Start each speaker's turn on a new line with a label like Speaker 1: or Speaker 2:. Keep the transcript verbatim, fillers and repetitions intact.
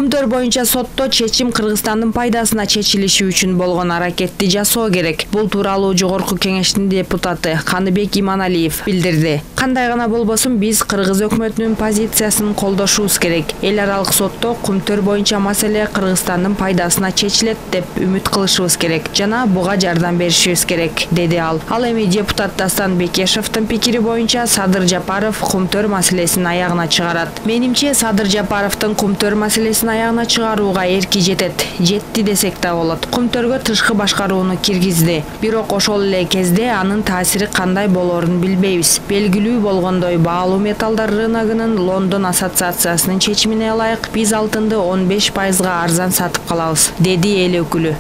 Speaker 1: Кумтөр боюнча сотто чечим Кыргызстандын пайдасына чечилиши үчүн болгон аракетти жасоо керек. Бул тууралуу Жогорку Кеңештин депутаты Каныбек Иманалиев билдирди. Кандай гана болбосун биз Кыргыз өкмөтүнүн позициясын колдошубуз керек. Эл аралык сотто Кумтөр боюнча маселе Кыргызстандын пайдасына чечилет деп үмүт кылышыбыз керек жана буга жардам беришибиз керек, деди ал. Ал эми депутат Дастан Бекешевдин пикири боюнча Садыр Жапаров Кумтөр маселесин аягына чыгарат. Менимче Садыр Жапаровдун Кумтөр маселесин аягына чыгарууга эрки жетет. Жетти десек да болот. Кумтөргө тышкы башкарууну киргизди. Бирок ошол эле кезде анын таасири кандай болоорун билбейбиз. Белгилүү болгондой, баалуу металлдар рыногунун Лондон ассоциациясынын чечимине ылайык биз алтынды он беш пайызга арзан сатып калабыз, деди эл өкүлү.